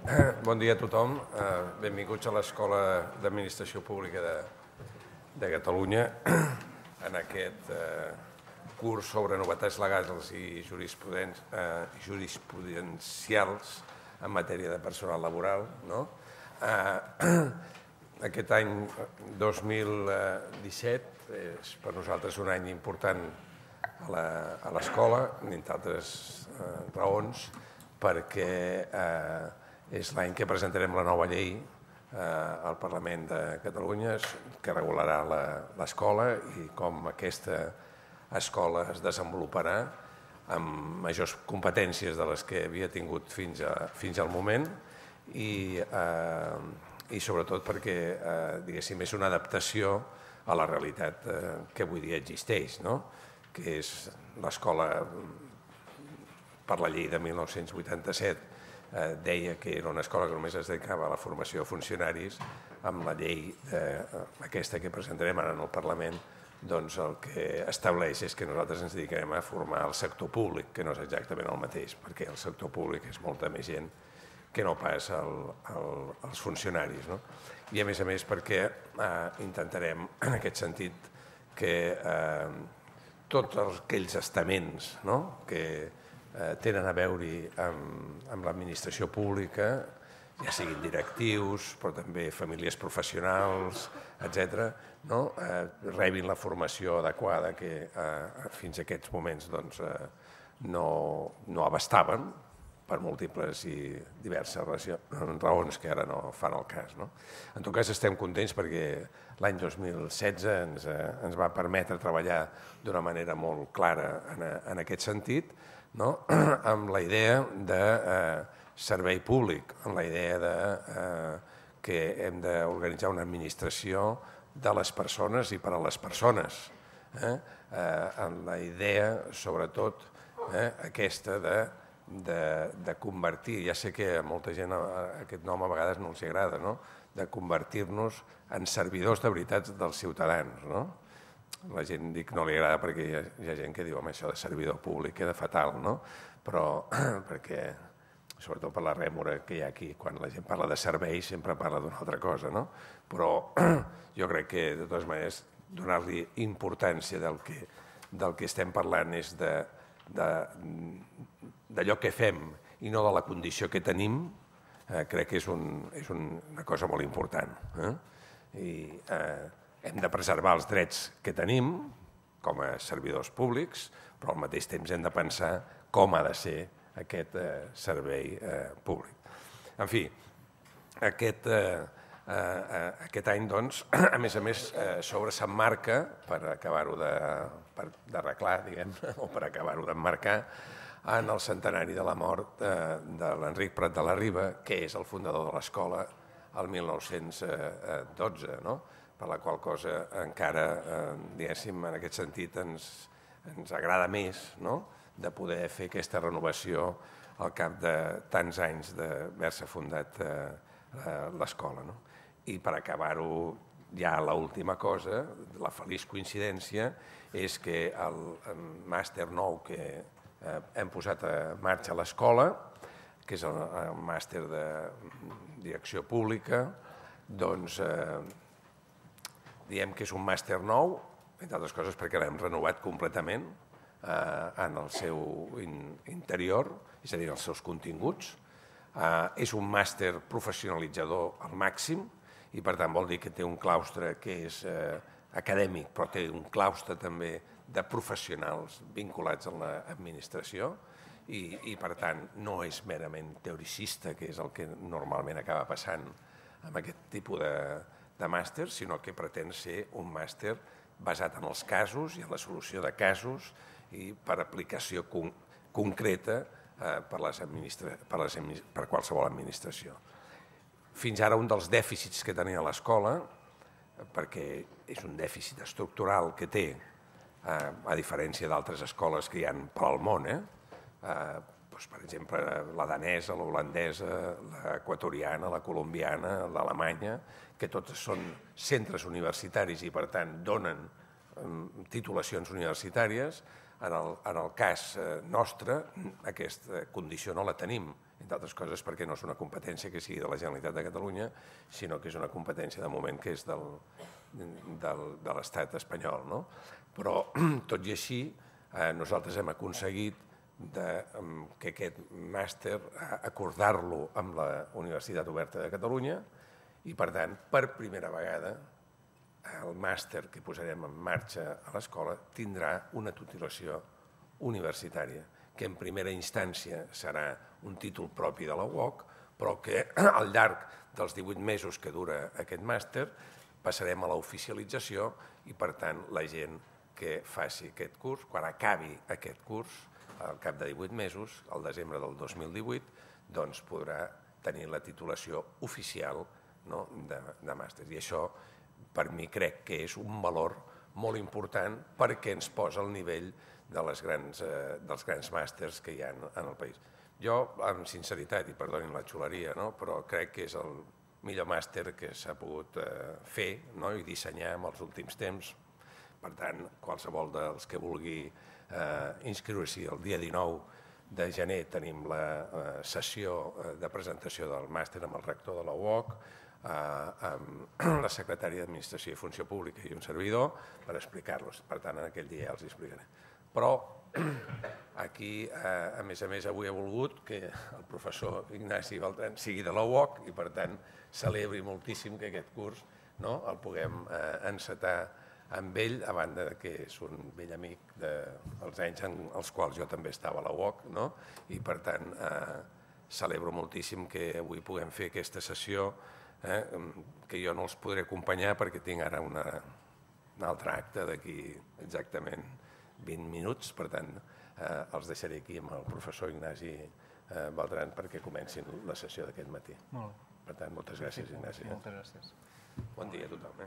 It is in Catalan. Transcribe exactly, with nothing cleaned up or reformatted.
Bon dia a tothom. Benvinguts a l'Escola d'Administració Pública de Catalunya en aquest curs sobre novetats legals i jurisprudencials en matèria de personal laboral. Aquest any dos mil disset és per nosaltres un any important a l'escola, entre altres raons, perquè és l'any que presentarem la nova llei al Parlament de Catalunya que regularà l'escola i com aquesta escola es desenvoluparà amb majors competències de les que havia tingut fins al moment i sobretot perquè és una adaptació a la realitat que avui dia existeix, que és l'escola, per la llei de mil nou-cents vuitanta-set, deia que era una escola que només es dedicava a la formació de funcionaris. Amb la llei aquesta que presentarem ara en el Parlament, doncs el que estableix és que nosaltres ens dedicarem a formar el sector públic, que no és exactament el mateix, perquè el sector públic és molta més gent que no pas els funcionaris. I a més a més perquè intentarem, en aquest sentit, que tots aquells estaments que tenen a veure amb l'administració pública, ja siguin directius, però també famílies professionals, etcètera, rebin la formació adequada que fins a aquests moments no abastaven per múltiples i diverses raons que ara no fan el cas. En tot cas, estem contents perquè l'any dos mil setze ens va permetre treballar d'una manera molt clara en aquest sentit, amb la idea de servei públic, amb la idea que hem d'organitzar una administració de les persones i per a les persones, amb la idea, sobretot, aquesta de convertir, ja sé que a molta gent aquest nom a vegades no els agrada, de convertir-nos en servidors de veritat dels ciutadans. La gent dic no li agrada perquè hi ha gent que diu home, això de servidor públic queda fatal, però perquè, sobretot per la rèmora que hi ha aquí, quan la gent parla de serveis sempre parla d'una altra cosa, però jo crec que de totes maneres donar-li importància del que estem parlant és d'allò que fem i no de la condició que tenim, crec que és una cosa molt important. I hem de preservar els drets que tenim com a servidors públics, però al mateix temps hem de pensar com ha de ser aquest servei públic. En fi, aquest any, doncs, a més a més, sobre s'emmarca, per acabar-ho d'arreglar, diguem-ne, o per acabar-ho d'emmarcar, en el centenari de la mort de l'Enric Prat de la Riba, que és el fundador de l'escola el mil nou-cents dotze, per la qual cosa encara, diguéssim, en aquest sentit ens agrada més de poder fer aquesta renovació al cap de tants anys d'haver-se fundat l'escola. I per acabar-ho, ja l'última cosa, la feliç coincidència, és que el màster nou que hem posat en marxa a l'escola, que és el màster de direcció pública, doncs diem que és un màster nou, entre altres coses perquè l'hem renovat completament en el seu interior, és a dir, els seus continguts. És un màster professionalitzador al màxim i, per tant, vol dir que té un claustre que és acadèmic, però té un claustre també de professionals vinculats a l'administració i, per tant, no és merament teoricista, que és el que normalment acaba passant amb aquest tipus de màster, sinó que pretén ser un màster basat en els casos i en la solució de casos i per aplicació concreta per qualsevol administració. Fins ara un dels dèficits que tenia l'escola, perquè és un dèficit estructural que té, a diferència d'altres escoles que hi ha pel món, per exemple, la danesa, l'holandesa, l'equatoriana, la colombiana, l'alemanya, que totes són centres universitaris i, per tant, donen titulacions universitàries. En el cas nostre, aquesta condició no la tenim. entre altres coses perquè no és una competència que sigui de la Generalitat de Catalunya, sinó que és una competència de moment que és del, del, de l'Estat espanyol. No? Però, tot i així, eh, nosaltres hem aconseguit de, que aquest màster acordar-lo amb la Universitat Oberta de Catalunya i, per tant, per primera vegada, el màster que posarem en marxa a l'escola tindrà una titulació universitària, que en primera instància serà un títol propi de la U O C, però que al llarg dels divuit mesos que dura aquest màster passarem a l'oficialització i, per tant, la gent que faci aquest curs, quan acabi aquest curs, al cap de divuit mesos, al desembre del dos mil divuit, doncs podrà tenir la titulació oficial de, de màster. I això, per mi, crec que és un valor molt important perquè ens posa al nivell de les grans, eh, dels grans màsters que hi ha en el país. Jo, amb sinceritat, i perdonin la xuleria, no? però crec que és el millor màster que s'ha pogut eh, fer, no? i dissenyar en els últims temps. Per tant, qualsevol dels que vulgui eh, inscriure-s'hi el dia dinou de gener tenim la eh, sessió de presentació del màster amb el rector de la U O C, eh, amb la secretària d'Administració i Funció Pública i un servidor per explicar-los. Per tant, en aquell dia ja els explicaré. Però aquí, a més a més, avui he volgut que el professor Ignasi Beltran sigui de la U O C i, per tant, celebri moltíssim que aquest curs el puguem encetar amb ell, a banda que és un vell amic dels anys en els quals jo també estava a la U O C, i, per tant, celebro moltíssim que avui puguem fer aquesta sessió, que jo no els podré acompanyar perquè tinc ara un altre acte d'aquí exactament vint minuts, per tant, els deixaré aquí amb el professor Ignasi Beltran perquè comencin la sessió d'aquest matí. Per tant, moltes gràcies, Ignasi. Moltes gràcies. Bon dia a tothom.